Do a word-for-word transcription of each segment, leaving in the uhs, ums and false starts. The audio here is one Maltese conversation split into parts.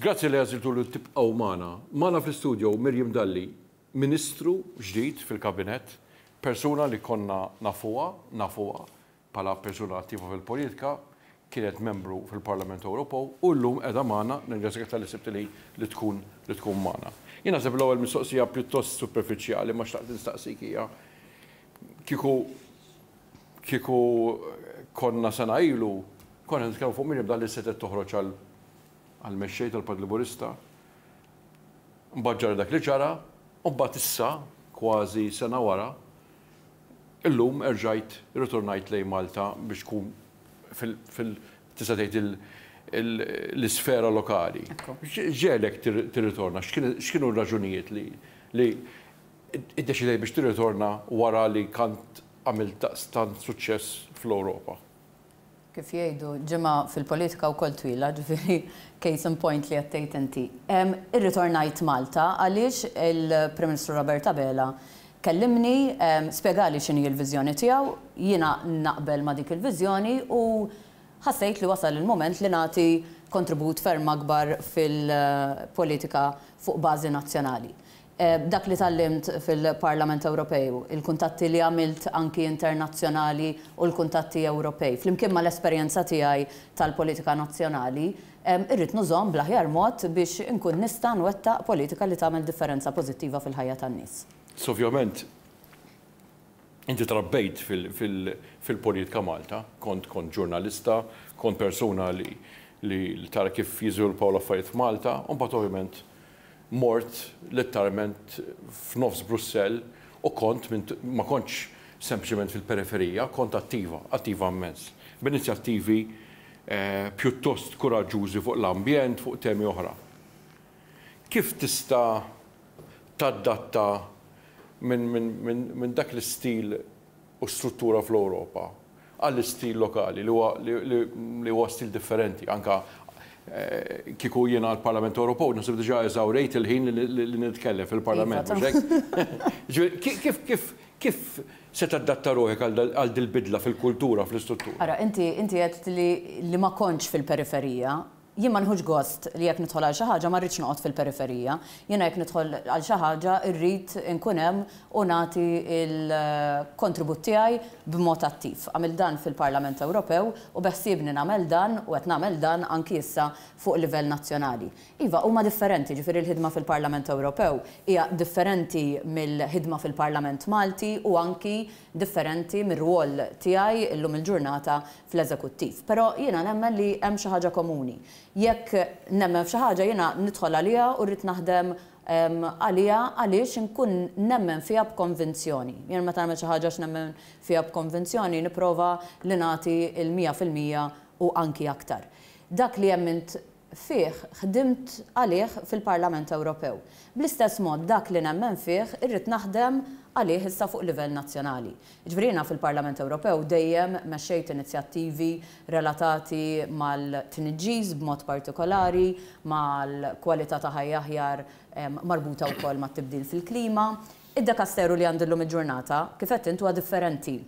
Grazzi li għażiltu li tibqgħu magħna. Magħna fl-istudio Miriam Dalli, Ministru ġdid fil-Kabinett, persuna li konna nafuha, nafuha bħala persuna attiva fil-politika, kienet membru fil-Parlament Ewropew u llum qiegħda magħna, nirringrazzjak talli sibt li li tkun li tkun magħna. Jien naħseb l-ewwel mistoqsija pjuttost superfiċjali ma xtaqt nistaqsik hija kieku kieku konna sena ilu, konna nitkellmu fuq Miriam Dalli setgħet toħroġ għal għal-mexxej tal-Partit Laburista. Mbagħad ġara dak li ġara, u mbagħad issa kważi sena wara, illum erġajt ritornajt lejn Malta biex tkun fil tista' tgħid l-isfera lokali. Ġelek tirritorna, x'kienu r-raġunijiet li li iddeċidej biex tirritorna wara li kont għamilt daqstant suċċess fl-Ewropa? Kif jgħidu, ġimgħa fil-politika wkoll twila, ġifieri case in point li għedt inti. Irritornajt Malta għaliex il-Prim Ministru Robert Abela kellimni, spjegali x'inhi l-viżjoni tiegħu, jiena naqbel ma' dik il-viżjoni u ħassejt li wasal il-moment li nagħti kontribut ferm akbar fil-politika fuq bażi nazzjonali. Dak li tgħallimt fil-Parlament Ewropew, il-kuntatti li għamilt anki internazzjonali u l-kuntatti Ewropej, flimkien ma l-esperjenza tiegħi tal-politika nazzjonali, irrid nużahom bl-aħjar mod biex inkun nista' nwettaq politika li tagħmel differenza pożittiva fil-ħajja tan-nies. Ovvjament, inti trabbejt fil-politika Malta, kont kont ġurnalista, kont persuna li li tara kif jiżviluppaw l-affarijiet f'Malta, u mbagħad ovvjament mort letteralment f'nofs Brussell u kont ma kontx sempliċement fil-periferija, kont attiva, attiva immens. B'inizjattivi eh, pjuttost kuraġġużi fuq l-ambjent, fuq temi oħra. Kif tista' tadatta minn min, min, min dak l-istil u struttura fl-Ewropa għall-istil lokali li huwa li huwa stil differenti anka eh, kieku jiena l-Parlament Ewropew naħseb diġà eżawrejt il-ħin li nitkellem fil-Parlament. Kif kif kif se tadatta ruħek għal dil-bidla fil-kultura, fl-istruttura? Ara, inti inti għedt li li ma kontx fil-periferija. Jien ma nieħux gost li jekk nidħol għal xi ħaġa ma rridx noqgħod fil-periferija. Jiena jekk nidħol għal xi ħaġa rrid inkun hemm u nagħti il-kontribut tiegħi b'mod attiv. Għamilt dan fil-Parlament Ewropew u beħsiebni nagħmel dan u qed nagħmel dan anki issa fuq livell nazzjonali. Iva, huma differenti, ġifieri l-ħidma fil-Parlament Ewropew hija differenti mill-ħidma fil-Parlament Malti u anki differenti mir-rwol tiegħi illum il-ġurnata fl-eżekuttiv. Però jiena nemmen li hemm xi ħaġa komuni. Jekk nemmen f'xi ħaġa, jiena nidħol għaliha u rrid naħdem għaliha għaliex inkun nemmen fiha b'konvinzjoni. Jien meta nagħmel xi ħaġa x'nemmen fiha b'konvinzjoni, nipprova li nagħti il-mija fil-mija u anki aktar. Dak li emmint fih ħdimt għalih fil-Parlament Ewropew. Bl-istess mod, dak li nemmen fih irrid naħdem għalih issa fuq livell nazzjonali. Ġifieri fil-Parlament Ewropew dejjem mexxejt inizjattivi relatati mal-tniġġis b'mod partikolari, mal-kwalità ta' ħajja aħjar marbuta wkoll mat-tibdil fil-klima. Id-dekasteru li għandi llum il-ġurnata, kif qed huwa differenti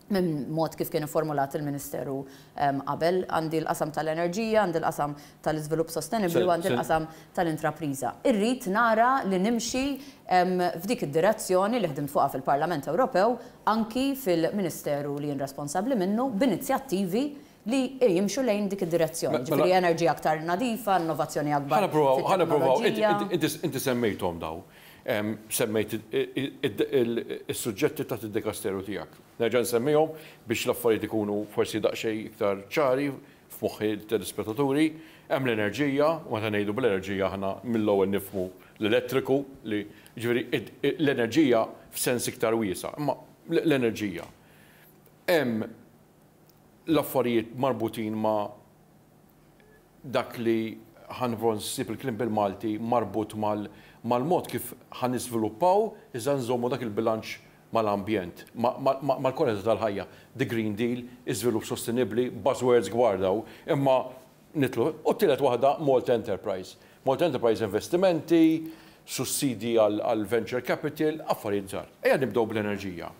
minn mod kif kien formulat il-Ministeru qabel. Għandi l-qasam tal-enerġija, għandi l-qasam tal-iżvilupp sostenibli u għandi l-qasam tal-intrapriża. Irrid nara li nimxi f'dik id-direzzjoni li ħdimt fuqha fil-Parlament Ewropew anki fil-Ministeru li jien responsabbli minnu, b'inizjattivi li jimxu lejn dik id-direzzjoni. Ġifieri enerġija aktar nadifa, innovazzjoni akbar. Ħa nippruvaw, inti semmejthom daw. Semmejt is-suġġetti ta' id-dekasteru tiegħek. Nerġa' nsemmihom biex l-affarijiet ikunu forsi daqsxejn iktar ċari f'moħħi telespettaturi. Hemm l-enerġija, u meta ngħidu bl-enerġija aħna mill-ewwel nifhmu l-elettriku, li ġifieri l-enerġija f'sens iktar wiesa', imma l-enerġija. Hemm l-affarijiet marbutin ma' dak li ħa nsib il-kliem bil-Malti marbut mal-mod kif ħa niżviluppaw iżda nżommu dak il-bilanċ mal-ambjent, mal-kwalità tal-ħajja. The Green Deal, iżvilupp sostenibbli, buzzwords kbar daw, imma nitlu. U t-tielet waħda, Malta Enterprise. Malta Enterprise, investimenti, sussidi għal venture capital, affarijiet żgħar. Ejja nibdew bl-enerġija.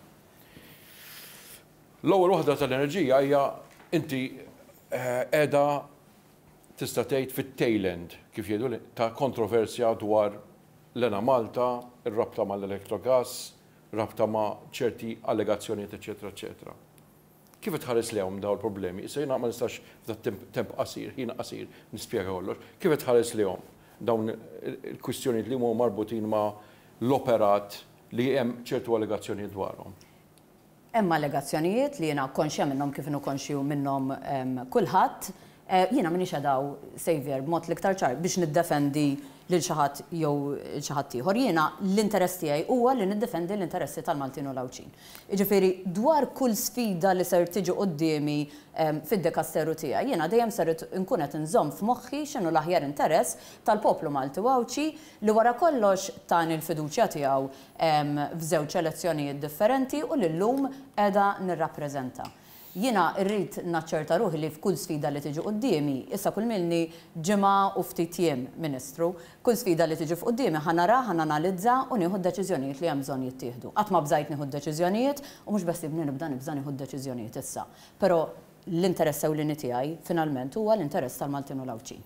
L-ewwel waħda tal-enerġija hija inti qiegħda tista' tgħid, fit-tail end, kif jgħidu, ta' kontroversja dwar l-Enemalta, ir-rabta mal-Electrogas, rabta ma' ċerti allegazzjonijiet, eċetera, eċetera. Kif tħares lejhom dawn il-problemi? Issa jiena ma nistax f'dat temp qasir, ħin qasir, nispjega kollox. Kif tħares lejhom dawn il-kwistjonijiet li huma marbutin ma' l-operat li hemm ċertu allegazzjonijiet dwarhom? Hemm allegazzjonijiet li jiena konxja minnhom kif inhu konxju minnhom kulħadd. Eh, jiena m'iniex hawn, Saviour, b'mod l-iktar ċar biex niddefendi lil xi ħadd jew xi ħadd ieħor. Jiena l-interess tiegħi huwa li niddefendi l-interessi tal-Maltin u l-Għawdxin. Jiġifieri dwar kull sfida li ser tiġi quddiemi fid-dekasteru tiegħi, jiena dejjem ser nkun qed inżomm f'moħħi x'inhu l-aħjar interess tal-poplu Malti u Għawdxi li wara kollox tani l-fiduċja tiegħu f'żewġ elezzjonijiet differenti u li llum qiegħda nirrappreżenta. Jiena rrid naċċerta ruħi li f'kull sfida li tiġi quddiemi, issa kull m'ilni ġimgħa u ftit jiem Ministru, kull sfida li tiġi f'quddiemi ħa nara, ħa nanalizza u nieħu d-deċiżjonijiet li hemm bżonn jittieħdu. Qatt ma bżajt nieħu d-deċiżjonijiet u mhux beħsiebni nibda nibża' nieħu d-deċiżjonijiet issa. Però l-interess ewlieni tiegħi finalment huwa l-interess tal-Maltin u l-Għawdxin.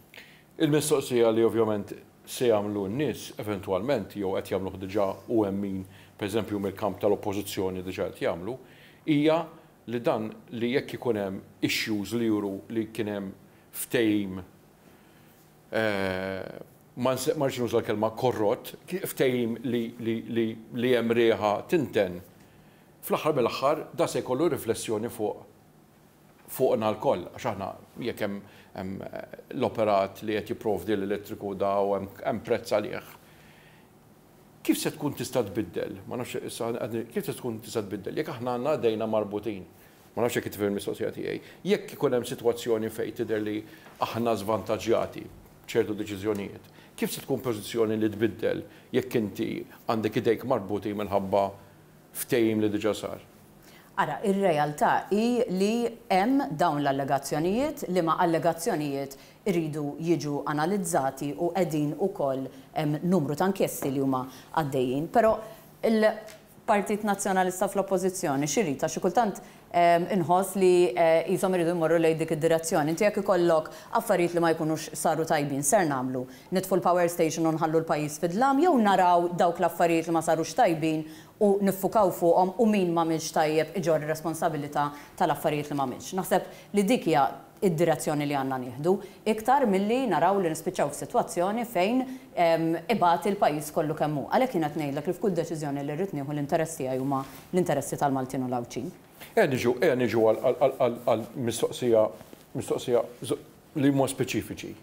Il-mistoqsija li ovvjament se jagħmlu n-nies eventwalment, jew qed jagħmluh diġà u hemm min, pereżempju, mill-kamp tal-oppożizzjoni diġà qed jagħmlu, hija li dan li jekk ikun hemm issues li juru li kien hemm ftehim, eh, ma rridx nuża l-kelma korrott, ftehim li, li, li, li hemm riħa tinten, fl-aħħar mill-aħħar da se jkollu riflessjoni fuq fuqna lkoll, għax aħna jekk hemm l-operat li qed jipprovdi l-elettriku da u hemm prezz għalih. Kif se tkun tista' tbiddel? Ma nafx issa, kif se tkun tista' tbiddel? Jekk aħna għandna idejna marbutin. Ma nafx jekk tifhem il-mistoqsija tiegħi. Jekk ikun hemm sitwazzjoni fejn tidher li aħna żvantaġġjati ċertu deċiżjonijiet, kif se tkun pożizzjoni li tbiddel jekk inti għandek idejk marbuti minħabba ftehim li diġà sar? Ara, ir-realtà hi li hemm dawn l-allegazzjonijiet, li ma allegazzjonijiet iridu jiġu analizzati u qegħdin ukoll hemm numru ta' inkjesti li huma għaddejjin. Però il-Partit Nazzjonalista fl-Oppożizzjoni x'irid? Għax xi kultant inħoss li qishom iridu jmorru lejn dik id-direzzjoni. Inti jekk ikollok affarijiet li ma jkunux saru tajbin, ser nagħmlu? Nitfu l-power station u nħallu l-pajjiż fid-dlam jew naraw dawk l-affarijiet li ma sarux tajbin u niffukaw fuqhom u min m'għamilx tajjeb iġorr responsabilità tal-affarijiet li m'għamilx? Naħseb li dik hija id-direzzjoni li għandna nieħdu, iktar milli naraw li nispiċċaw f'sitwazzjoni fejn ibati l-pajjiż kollu kemm hu. Għalhekk jien qed ngħidlek li f'kull deċiżjoni li rrid nieħu, l-interess tiegħi huma l-interessi tal-Maltin u l-Għawdxin. Ejja niġu, ejja niġu għal mistoqsija mistoqsija li huma speċifiċi.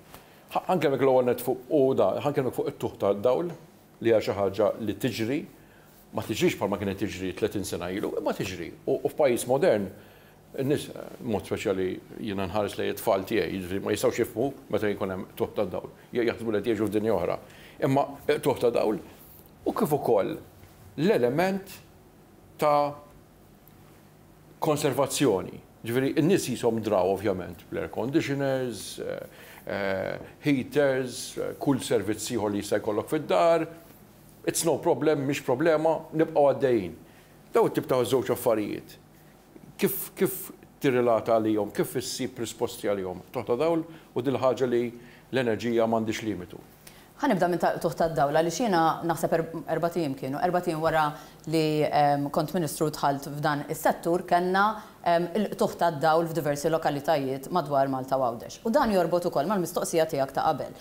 Ħa nkellmek l-ewwel net fuq u da, ħa nkellmek fuq it-qtugħ tad-dawl li hija xi ħaġa li tiġri, ma tiġrix bħalma kienet tiġri tletin sena ilu, imma tiġri. U f'pajjiż modern, in-nies, mod speċjali jiena nħares lejn it-tfal tiegħi, jiġifieri ma jistgħux jifhmu meta jkun hemm qtugħ tad-dawl. Jaħsbu li qed jgħixu f'dinja oħra. Imma qtugħ ta' dawl u kif ukoll l-element ta' konservazzjoni. Ġifieri, n-nies qishom draw ovvjament bl-air conditioners, eh, heaters, kull servizz ieħor li jista' jkollok fid-dar. It's no problem, mhix problema, nibqgħu għaddejjin. Daw it-tip ta' żewġ affarijiet. Kif, kif tirrelata għalihom, kif issib risposti għalihom? Qtugħ ta' dawl u dil-ħaġa li l-enerġija m'għandix limitu. Ħa nibda minn qtugħ tad-dawl, għaliex jiena naħseb erbat ijiem kienu, erbat ijiem wara li kont ministru dħalt f'dan is-settur, kellna il-qtugħ tad-dawl f'diversi lokalitajiet madwar Malta u Għawdex. U dan jorbot ukoll mal-mistoqsija tiegħek ta' qabel.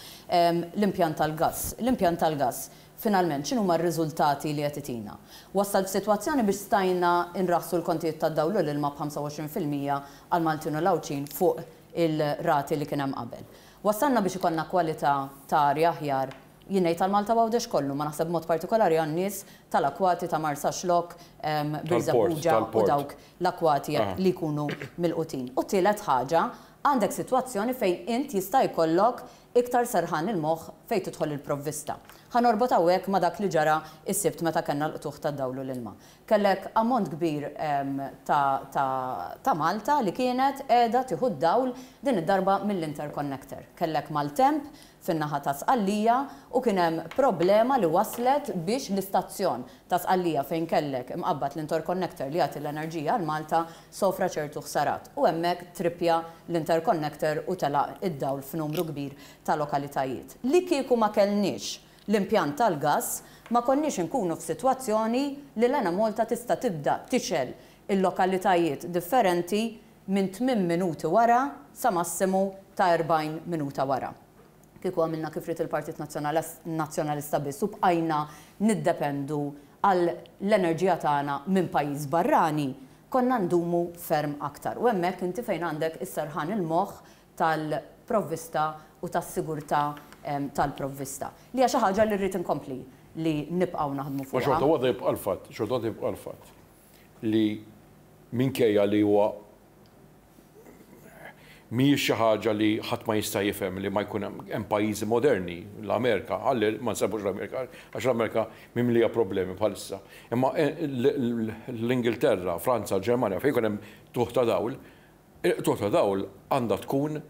L-impjant tal-gas. L-impjant tal-gas, finalment, x'inhu ma r-riżultati li qed itina? Wassal f'sitwazzjoni biex stajna nraħsu l-kontijiet tad-dawl u l-ilma b'ħamsa u għoxrin fil-mija għal Maltin u l-Għawdxin fuq il-rati li kien hemm qabel. Wassalna biex ikollna kwalità ta' arja aħjar, jien ngħid tal-Malta Għawdex kollu, ma naħseb mod partikolari għan-nies tal-akwati ta' Marsaxlokk, Birżebbuġa u dawk l-akwati li jkunu milqutin. U tielet ħaġa, għandek sitwazzjoni fejn int jista' jkollok iktar serħan il-moħħ fejn tidħol il-provvista. Ħa norbot hawnhekk ma' dak li ġara is-Sibt meta kellna l-qtugħ tad-dawl u l-ilma. Kellek ammont kbir ta', ta, ta Malta li kienet qiegħda tieħu d-dawl din id-darba mill-interconnector. Kellek maltemp fin-naħa ta' Sqallija u kien hemm problema li waslet biex l-istazzjon fir-reġjon ta' Sqallija fejn kellek imqabbad l-interconnector li jagħti l-enerġija għal Malta sofra ċertu ħsarat u hemmhekk trippja l-interconnector u telaq id-dawl f'numru kbir ta' lokalitajiet. Li kieku ma kellniex l-impjant tal-gas, ma konniex inkunu f'sitwazzjoni li l-Enemalta tista' tibda tixgħel il-lokalitajiet differenti minn tmien minuti wara sa massimu ta' erbgħin minuta wara. Kieku għamilna kif ried il-Partit Nazzjonalista biss u bqajna niddependu għal l-enerġija tagħna minn pajjiż barrani, konna ndumu ferm aktar. U hemmhekk inti fejn għandek is-serħan il-moħħ tal-provvista u tas-sigurtà tal-provvista. Li hija xi ħaġa li rrid inkompli li nibqgħu naħdmu fuqha. Ma xorta waħda jibqa' l-fatt, xorta waħda jibqa' l-fatt li minkejja li huwa mhijiex xi ħaġa li ħadd ma jista' jifhem li ma jkun hemm pajjiżi moderni, l-Amerika, ħalli ma nsemmux l-Amerika, għax l-Amerika mimlija problemi bħalissa. Imma l-Ingilterra, Franza, Ġermanja, fejn jkun hemm tuħ ta' dawl, tuħ ta' dawl għandha tkun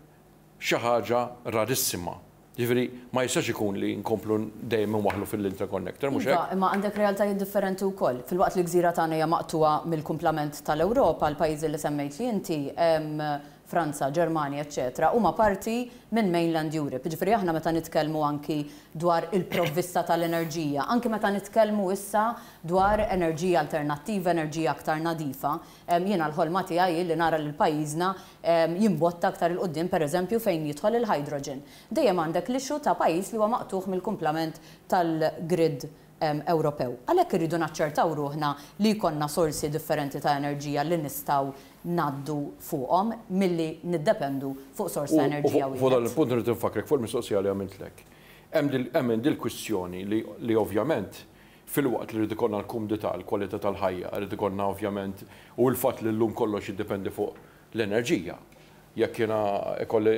xi ħaġa rarissima. Ġifieri ma jistax ikun li nkomplu dejjem inwaħħlu fil-interconnector, mhux hekk? Imma għandek realtajiet differenti wkoll. Filwaqt li gżira tagħna hija maqtugħa mill-kumplament tal-Ewropa, l-pajjiżi li semmejt li inti, Franza, Ġermanja, eċċetera, huma parti minn mainland Europe. Ġifieri aħna meta nitkellmu anki dwar il-provvista tal-enerġija, anki meta nitkellmu issa dwar enerġija alternattiva, enerġija aktar nadifa, jiena l-ħolma tiegħi li nara lil pajjiżna jimbotta aktar 'il quddiem, pereżempju fejn jidħol il-hydrogen. Dejjem għandek l-issue ta' pajjiż li huwa maqtugħ mill-kumplament tal-grid Ewropew. Għalhekk irridu naċċertaw ruħna li jkollna sorsi differenti ta' enerġija li nistgħu ngħaddu fuqhom milli niddependu fuq sors ta' enerġija wieħed. Fuq dan il-punt irid infakrek fuq il-mistoqsija li għamiltlek. Hemm dil-kwistjoni li ovvjament filwaqt li rrid ikollna l-kumdità, l-kwalità tal-ħajja, rrid ikollna ovvjament u l-fatt li llum kollox jiddependi fuq l-enerġija. Jekk jiena jkolli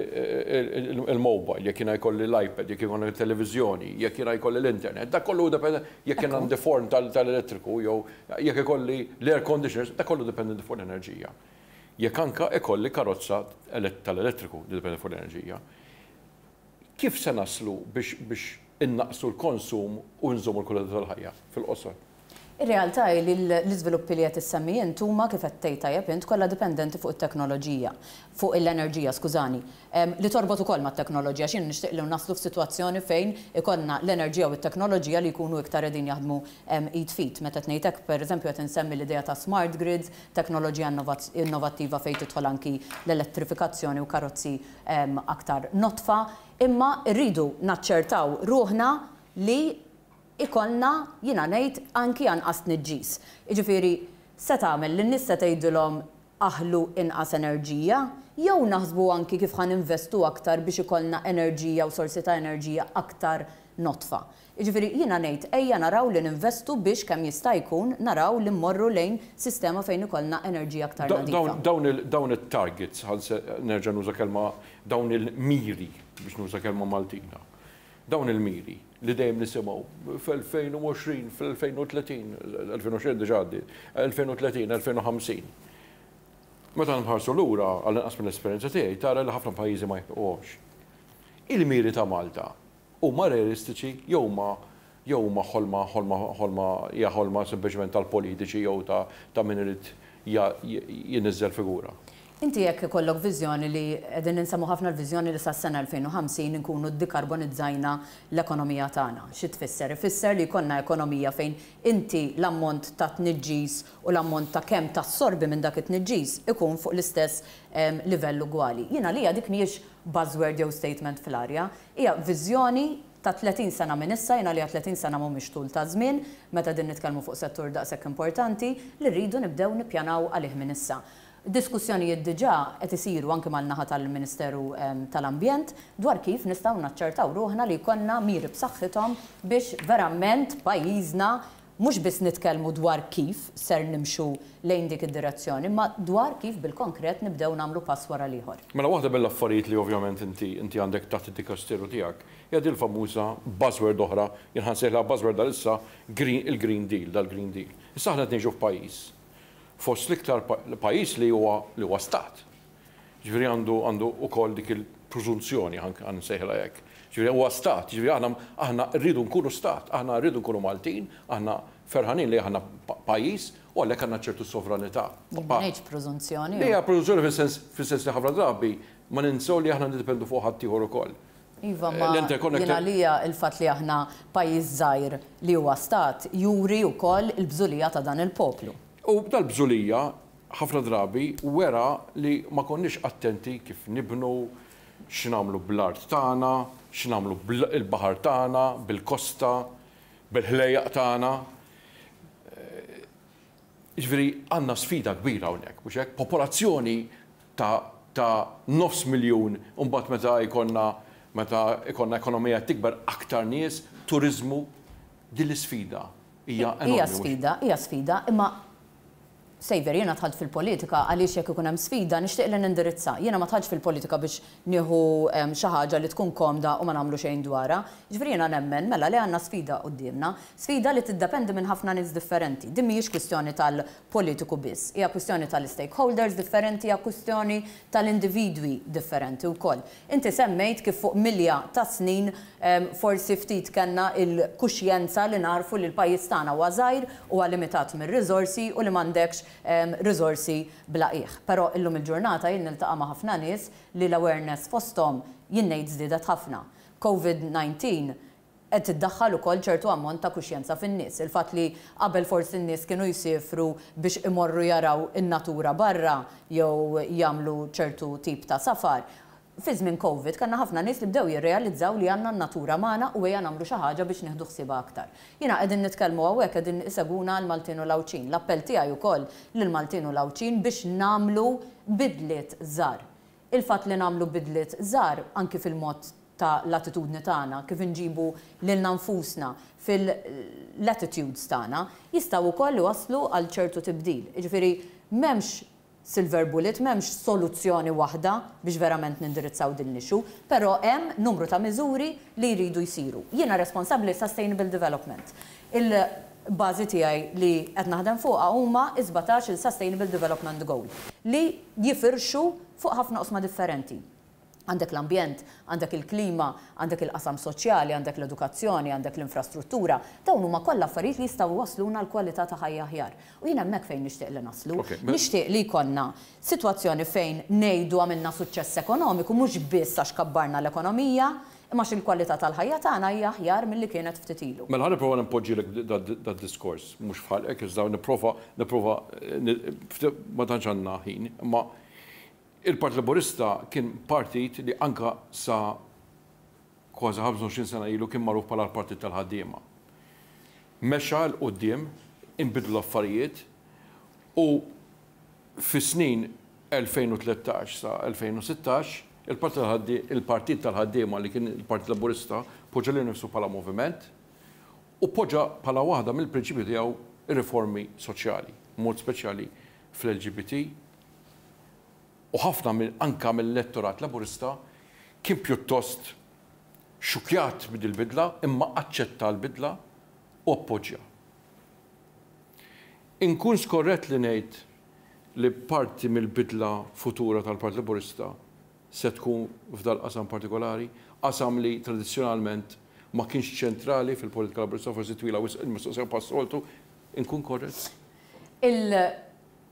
il-mobile, jekk jiena jkolli l-iPad, jekk jiena il-televiżjoni, jekk jiena jkolli l-internet, dak kollu depende, jekk jiena għandi forn tal-elettriku, jew jekk ikolli l-air conditioners, dak kollu dipendenti fuq l-enerġija. Jekk anka ikolli karozza tal-elettriku dipendi fuq l-enerġija. Kif se naslu biex innaqsu l-konsum u nżommu l-kwalità tal-ħajja fil-qosor? Ir-realtà hi li l-iżviluppi li qed issemmi int huma kif qed tgħid tajjeb int kollha dipendenti fuq it-teknoloġija, fuq l-enerġija, skużani, li torbot ukoll mat-teknoloġija x'jien nixtieq li naslu f'sitwazzjoni fejn ikollna l-enerġija u t-teknoloġija li jkunu iktar qegħdin jaħdmu id f'id. Meta qed ngħid hekk, pereżempju qed insemmi l-idea ta' smart grids, teknoloġija innovattiva fejn tidħol anki l-elettrifikazzjoni u karozzi aktar notfa, imma rridu naċċertaw ruħna li ikollna, jiena ngħid, anki anqas tniġġis. Jiġifieri se tagħmel lin nies se tgħidilhom aħlu inqas enerġija, jew naħsbu anki kif ħa ninvestu aktar biex ikollna enerġija u sorsi ta' enerġija aktar notfa. Jiġifieri jiena ngħid ejja naraw li ninvestu biex kemm jista' jkun naraw li mmorru lejn sistema fejn ikollna enerġija aktar nadifa. Dawn it-targets, nerġa' nuża kelma dawn il-miri biex nuża kelma Maltina. Dawn il-miri li dejjem nisimgħu fl-elfejn u għoxrin, fl-elfejn u tletin, elfejn u għoxrin diġà għaddiet, elfejn u tletin, elfejn u ħamsin. Meta nħarsu lura għall-inqas mill-esperjenza tiegħi tara li ħafna pajjiżi ma jilħquhomx. Il-miri ta' Malta huma realistiċi jew huma jew huma ħolma ħolma ħolma hija ħolma sempliċement tal-politiċi jew ta' min irid jinniżżel figura. Inti jekk ikollok viżjoni li qegħdin insemmu ħafna l-viżjoni li sas-sena elfejn u ħamsin inkunu ddikarbonizzajna l-ekonomija tagħna. Xi tfisser? Ifisser li jkollna ekonomija fejn inti l-ammont ta' tniġġis u l-ammont ta' kemm tassorbi minn dak it-tniġġis ikun fuq l-istess livell ugwali. Jiena lija dik mhijiex buzzword jew statement fl-arja, hija viżjoni ta' tletin sena minn issa, jiena li tletin sena mhumiex tul ta' żmien, meta din nitkellmu fuq settur daqshekk importanti, li rridu nibdew nippjanaw għalih minn issa. Diskussjonijiet diġà qed isiru anke mal-naħa tal-Ministeru tal-Ambjent dwar kif nistgħu naċċertaw ruħna li jkollna miri b'saħħithom biex verament pajjiżna mhux biss nitkellmu dwar kif ser nimxu lejn dik id-direzzjoni, imma dwar kif bil-konkret nibdew nagħmlu pass wara l-ieħor. Mela waħda mill-affarijiet li ovvjament inti inti għandek taħt id-dikasteru tiegħek hija din il-famuża buzzword oħra, jien ħansejħilha buzzword għalissa il-Green Deal, dal-Green Deal. Issa aħna qed ngħixu f'pajjiż fost l-iktar pajjiż li huwa li huwa stat. Ġifieri għandu għandu wkoll dik il-preżunzjoni ħansejħilha hekk Ġifieri huwa stat, ġifieri aħna aħna rridu nkunu stat, aħna rridu nkunu Maltin, aħna ferħanin li aħna pajjiż u għalhekk għandna ċertu sovranità. Ma ngħidx preżunzjoni. Hija preżunzjoni fis-sens fis-sens li ħafna drabi ma ninsew li aħna niddependu fuq ħaddieħor ukoll. Iva, ma jiena lija il-fatt li aħna pajjiż żgħir li huwa stat juri wkoll il-bżulija ta' dan il-poplu. U dal-bżulija ħafna drabi wera li ma konniex attenti kif nibnu, x'nagħmlu bl-art tagħna, x'nagħmlu bil-baħar tagħna, bil-kosta, bil-ħlejjaq tagħna. Jiġifieri għandna sfida kbira hawnhekk, mhux hekk? Popolazzjoni ta' ta' nofs miljun, u mbagħad meta jkollna meta jkollna ekonomija tikber aktar nies, turiżmu, din l-isfida hija enormi. Hija sfida, hija sfida, imma Xavier, jiena dħalt fil-politika għaliex jekk ikun hemm sfida nixtieq li nindirizza. Jiena ma dħaltx fil-politika biex nieħu xi ħaġa li tkun komda u ma nagħmlu xejn dwarha. Ġifieri jiena nemmen mela li għandna sfida quddiemna, sfida li tiddependi minn ħafna nies differenti. Din mhijiex kwistjoni tal-politiku biss, hija kwistjoni tal-stakeholders differenti, hija kwistjoni tal-individwi differenti wkoll. Inti semmejt kif fuq milja ta' snin forsi ftit kellna il-kuxjenza li narfu li l-pajjiż tagħna huwa żgħir huwa limitat mir-riżorsi u li m'għandekx riżorsi bla qiegħ. Però illum il-ġurnata jien niltaqa' ma' ħafna nies li l-awareness fosthom jien ngħid żdiedet ħafna. Covid nineteen qed tiddaħħal ukoll ċertu ammont ta' kuxjenza fin-nies. Il-fatt li qabel forsi n-nies kienu jsifru biex imorru jaraw in-natura barra jew jagħmlu ċertu tip ta' safar. Fi żmien Covid kellna ħafna nies li bdew jirrealizzaw li għandna n-natura magħna u ejja nagħmlu xi ħaġa biex nieħdu ħsiebha aktar. Jiena qegħdin nitkellmu hawnhekk qegħdin iseguna l-Maltin u l-Għawdxin. L-appell tiegħi wkoll lill-Maltin u l-Għawdxin biex nagħmlu bidliet żgħar. Il-fatt li nagħmlu bidliet żgħar anki fil-mod ta' l-attitudni tagħna, kif inġibu lilna nfusna fil-attitudes tagħna, jistgħu wkoll iwasslu għal ċertu tibdil. Jiġifieri m'hemmx silver bullet, m'hemmx soluzzjoni waħda biex verament nindirizzaw din l-issue, però hemm numru ta' miżuri li jridu jsiru. Jiena responsabbli Sustainable Development. Il-bażi tiegħi li qed naħdem fuqha huma sbatax il-Sustainable Development Goal li jifirxu fuq ħafna qosma differenti. Għandek l-ambjent, għandek il-klima, għandek il-qasam soċjali, għandek l-edukazzjoni, għandek l-infrastruttura. Dawn huma kollha affarijiet li jistgħu wasluna l-kwalità ta' ħajja aħjar. U jien hemmhekk fejn nixtieq li naslu. Nixtieq li jkollna sitwazzjoni fejn ngħidu għamilna suċċess ekonomiku mhux biss għax kabbarna l-ekonomija, imma għax il-kwalità tal-ħajja tagħna hija aħjar milli kienet ftit ilu. Mela ħa nipprova npoġġilek dad-diskors, mhux f'ħalqek, iżda nipprova nipprova ma tantx għandna ħin, imma il-Partit Laburista kien partit li anka sa kważi ħamsa u għoxrin sena ilu kien magħruf bħala l-Partit tal-Ħaddiema. Mexa 'l quddiem, inbidlu l-affarijiet u fis-snin elfejn u tlettax sa elfejn u sittax il-Partit tal-Ħaddiema li kien il-Partit Laburista poġġa lil nifsu bħala moviment u poġġa bħala waħda mill-prinċipju tiegħu ir-riformi soċjali, mod speċjali fl-L G B T. U ħafna anka mill-elettorat Laburista kien pjuttost xukjat bid-bidla, imma aċċetta l-bidla u appoġġja. Inkun skorrett li ngħid li parti mill-bidla futura tal-Partit Laburista se tkun f'dal qasam partikolari, qasam li tradizzjonalment ma kienx ċentrali fil-politika Laburista, forsi twila wisq il-mistoqsija pas-soltu, inkun korrett? Il-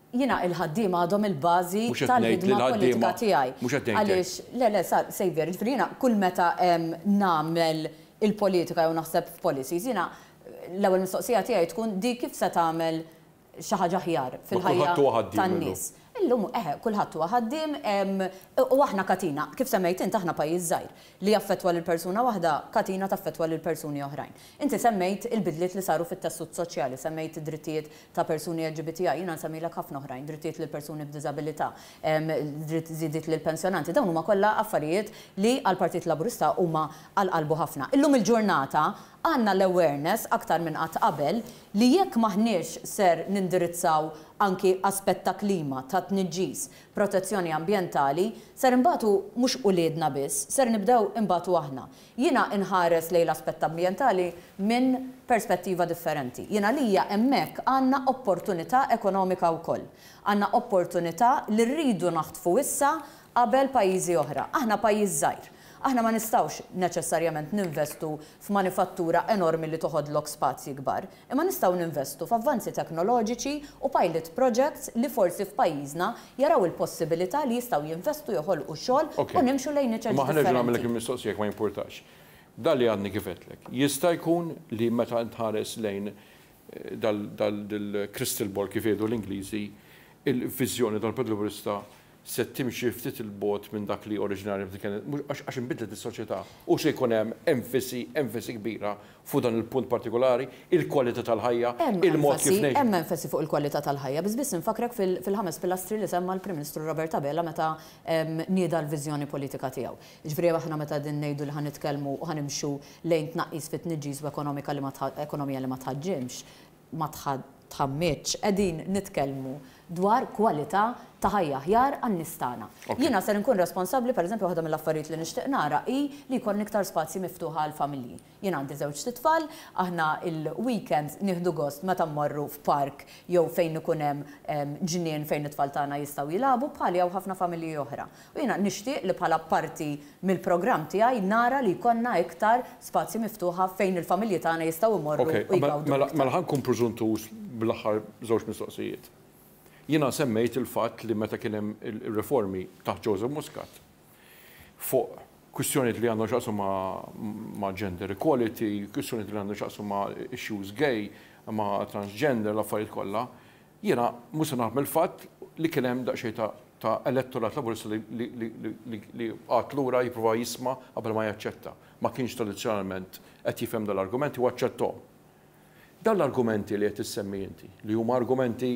Jiena il-ħaddiema għadhom il-bażi Mhux qed ngħid li tal-ħidma politika l-ħaddiema tiegħi. Mhux qed ngħid hekk. Għaliex, le, le, sa, Xavier, ġifieri jiena kull meta, em, nagħmel il-politika jew naħseb f'policies, jiena l-ewwel mistoqsija tiegħi tkun di kif se tagħmel xi ħaġa aħjar Ma fil-ħajja kulħadd huwa ħaddiem tan-nies. illum. Illum, eħe, kulħadd huwa ħaddiem, em, u aħna katina, kif semmejt int aħna pajjiż żgħir li jaffettwa lil persuna waħda, katina taffettwa lil persuni oħrajn. Inti semmejt il-bidliet li saru fit-tessut soċjali, semmejt id-drittijiet ta' persuni L G B T I, jiena nsemmilek ħafna oħrajn, drittijiet lil persuni b'diżabilità, em, dritt żidiet lil pensjonanti, dawn huma kollha affarijiet li għall-Partit Laburista huma għal qalbu ħafna. Illum il-ġurnata għandna l-awareness aktar minn qatt qabel li jekk maħniex ser nindirizzaw anki aspett ta' klima, ta' tniġġis, protezzjoni ambjentali, ser imbatu mhux uliedna biss, ser nibdew imbatu aħna. Jiena inħares lejn l-aspett ambjentali minn perspettiva differenti. Jiena lija hemmhekk għandna opportunità ekonomika wkoll. Għandna opportunità li rridu naħtfu issa qabel pajjiżi oħra. Aħna pajjiż żgħir. Aħna ma nistgħux neċessarjament ninvestu f'manifattura enormi li toħodlok spazji kbar, imma nistgħu ninvestu f'avvanzi teknoloġiċi u pilot projects li forsi f'pajjiżna jaraw il-possibilità li jistgħu jinvestu, joħolqu xogħol u nimxu lejn niċeċ. Ma ħa nerġa' nagħmellek il-mistoqsija, ma jimpurtax. Dan li għadni kif għedtlek. Jista' jkun li meta tħares lejn dal-crystal ball, kif jgħidu l-Ingliżi, il-viżjoni tal-Partit Laburista se timxi ftit 'il bogħod minn dak li oriġinarjament kienet, għax inbidlet is-soċjetà u se jkun hemm enfasi enfasi kbira fuq dan il-punt partikolari, il-kwalità tal-ħajja, il-mod kif ngħix. Hemm enfasi fuq il-kwalità tal-ħajja, biss biss infakrek fil-ħames pilastri li semma l-Prim Ministru Robert Abela meta nieda l-viżjoni politika tiegħu. Ġifieri aħna meta din ngħidu li ħa nitkellmu u ħa nimxu lejn tnaqqis fit-tniġġis u ekonomika li ma ekonomija li ma tħaġġimx, ma tħammitx, qegħdin nitkellmu dwar kwalità ta' ħajja aħjar għan-nies tagħna. Jiena ser nkun responsabbli, pereżempju, waħda mill-affarijiet li nixtieq nara hi li jkun iktar spazji miftuħa għal familji. Jien għandi żewġ tfal, aħna il-weekends nieħdu gost meta mmorru f'park jew fejn ikun hemm ġnien fejn it-tfal tagħna jistgħu jilagħbu, bħali hawn ħafna familji oħra. U jiena nixtieq li bħala parti mill-programm tiegħi nara li jkollna iktar spazji miftuħa fejn il-familji tagħna jistgħu jmorru u jgawdu. Mela, mela ħa nkun preżuntuż bl-aħħar żewġ mistoqsijiet. Jiena semmejt il-fatt li meta kien hemm il-riformi taħt Joseph Muscat fuq kwistjonijiet li għandhom x'jaqsmu ma' gender equality, kwistjonijiet li għandhom x'jaqsmu ma' issues gay, ma' transgender, l-affarijiet kollha, jiena mhux se naħmel il-fatt li kien hemm daqsxejn ta' elettorat Laburista li qagħad lura jipprova jisma' qabel ma jaċċetta. Ma kienx tradizzjonalment qed jifhem dal-argumenti u aċċettom. Dan l-argumenti li qed issemmi inti, li huma argumenti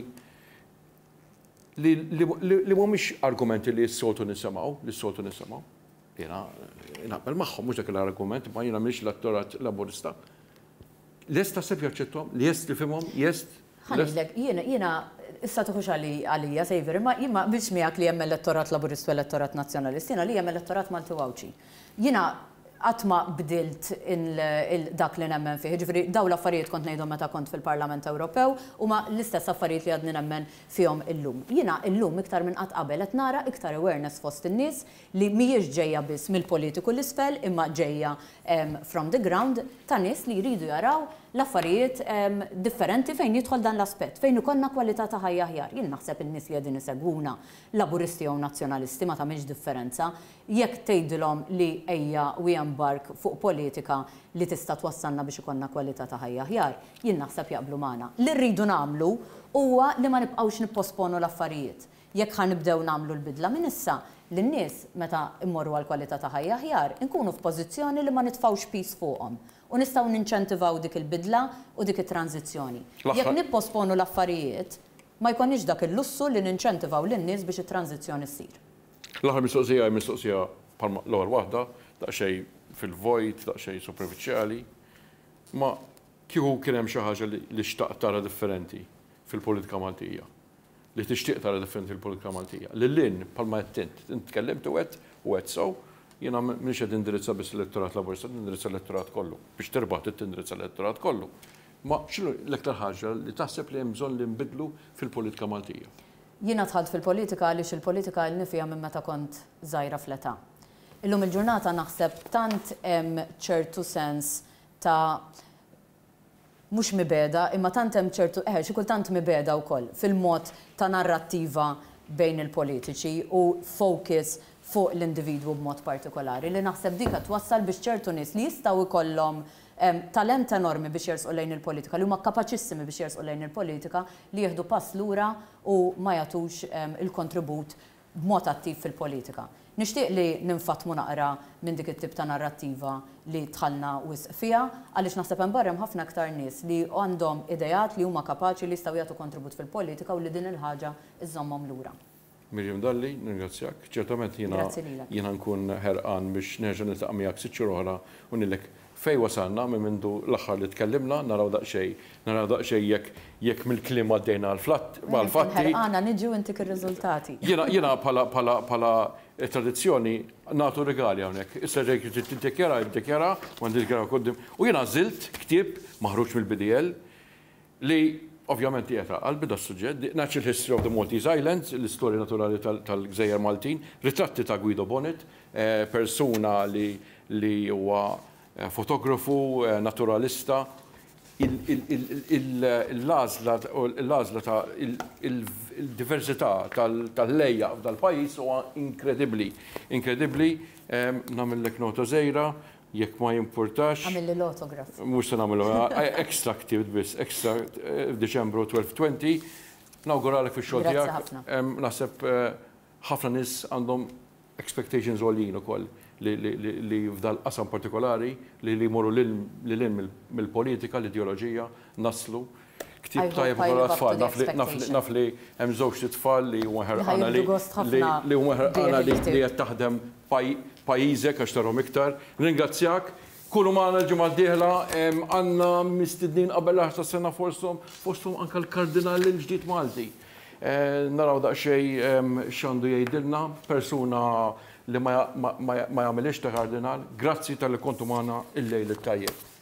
li mhumiex argumenti li s-soltu nisimgħu, li s-soltu nisimgħu. Jiena naqbel magħhom, mhux dak l-argument, ma jiena mhix l-elettorat Laburista. Lest taħseb jaċċettom, lest li fihmhom, lest. Ħa ngħidlek, jiena jiena issa tuħux għalija, Saviour, imma jien ma biex miegħek li hemm elettorat Laburista u elettorat Nazzjonalist, jiena li hemm elettorat Malti Għawdxi. Jiena qatt ma bdilt dak li nemmen fih. Ġifieri daw l-affarijiet kont ngħidhom meta kont fil-Parlament Ewropew u ma l-istess affarijiet li għadni nemmen fihom illum. Jiena illum iktar minn qatt qabel qed nara iktar awareness fost in-nies li mhijiex ġejja biss mill-politiku l-isfel, imma ġejja from the ground, ta' nies li jridu jaraw l-affarijiet differenti fejn jidħol dan l-aspett, fejn ikollna kwalità ta' ħajja aħjar. Jien naħseb in-nies li qegħdin isegwuna, Laburisti jew Nazzjonalisti, ma tagħmilx differenza, jekk tgħidilhom li ejja we embark fuq politika li tista' twassalna biex ikollna kwalità ta' ħajja aħjar, jien naħseb jaqblu magħna. Li rridu nagħmlu huwa li ma nibqgħux nipposponu l-affarijiet. Jekk ħa nibdew nagħmlu l-bidla minn issa, lin-nies meta immorru għal kwalità ta' ħajja aħjar, inkunu f'pożizzjoni li ma nitfgħux piż fuqhom u nistgħu ninċentivaw dik il-bidla u dik it-tranzizzjoni. Jekk nipposponu l-affarijiet, ma jkollniex dak il-lussu li ninċentivaw lin-nies biex it-tranzizzjoni ssir. L-aħħar mistoqsija hi mistoqsija bħalma l-ewwel waħda, daqsxejn fil-vojt, daqsxejn superfiċjali, ma kieku kien hemm xi ħaġa li xtaqt tara differenti fil-politika Maltija, li tixtieq tara differenti fil-politika Maltija. Lil hinn, bħalma qed int, int tkellimt u għedt u għedt sew, jiena m'iniex qed indirizza biss l-elettorat Laburista, nindirizza l-elettorat kollu. Biex tirbaħ trid tindirizza l-elettorat kollu. Ma x'inhu l-iktar ħaġa li taħseb li hemm bżonn li nbidlu fil-politika Maltija? Jiena dħalt fil-politika għaliex il-politika ilni fiha minn meta kont żgħira fl-età. Illum il-ġurnata naħseb tant hemm ċertu sens ta' mhux mibegħda, imma tant hemm ċertu, eh, xi kultant mibegħda wkoll fil-mod ta' narrattiva bejn il-politiċi u focus fuq l-individwu b'mod partikolari, li naħseb dika twassal biex ċertu nies li jistgħu jkollhom talent enormi biex jersqu lejn il-politika, li huma kapaċissimi biex jersqu lejn il-politika, li jieħdu pass lura u ma jagħtux il-kontribut b'mod attiv fil-politika. Nixtieq li ninfatmu naqra minn dik it-tip ta' narrattiva li dħalna wisq fiha, għaliex naħseb hemm barra hemm ħafna aktar nies li għandhom idejat, li huma kapaċi, li jistgħu jagħtu kontribut fil-politika u li din il-ħaġa iżommhom lura. Miriam Dalli, nirringrazzjak. Ċertament jiena Grazzi lilek. jiena nkun ħerqan biex nerġa' niltaqa' miegħek sitt xhur oħra u ngħidlek fej wasalna minn mindu l-aħħar li tkellimna, naraw daqsxejn, naraw daqsxejn jekk jekk mill-kliem għaddejna għall-fatti. Ħerqana niġi u intik ir-riżultati. Jiena jiena bħala bħala bħala tradizzjoni nagħtu regali hawnhekk. Issa ġejk tiddikjara, jiddikjara, u għandi dikjara quddiem. U jiena għażilt ktieb maħruġ mill-B D L li Ovvjament qiegħed qalbi das-suġġett, The Natural History of the Maltese Islands, l-istorja naturali tal-Gżejjer Maltin, ritratti ta' Guido Bonett, eh, persuna li li huwa eh, fotografu, eh, naturalista, l-għażla l-għażla ta' il-diversità tal-lejja f'dal-pajjiż huwa inkredibbli. Inkredibbli, nagħmellek nota żgħira, jekk ma jimpurtax. Għamilli l-autograph. Mhux se nagħmlu extra ktibt biss, extra f'Diċembru tletin għoxrin. Nawguralek fix-xogħol tiegħek. Naħseb ħafna nies għandhom expectations għoljin ukoll li f'dal qasam partikolari li li jmorru lil mill-politika, l-ideoloġija, naslu. Ktib tajjeb ukoll għat-tfal, naf li hemm żewġ tfal li huma ħerqana li li huma ħerqana li qed taħdem pajjiżek għax tarhom iktar. Ringrazzjak. Kunu magħna l-ġimgħa d-dieħla, għandna mistednin qabel l-aħħar tas-sena, fosthom fosthom anke l-Kardinal il-ġdid Malti. Naraw daqsxejn x'għandu jgħidilna, persuna li ma jagħmilx ta' kardinal. Grazzi talli kontu magħna, il-lejl it-tajjeb.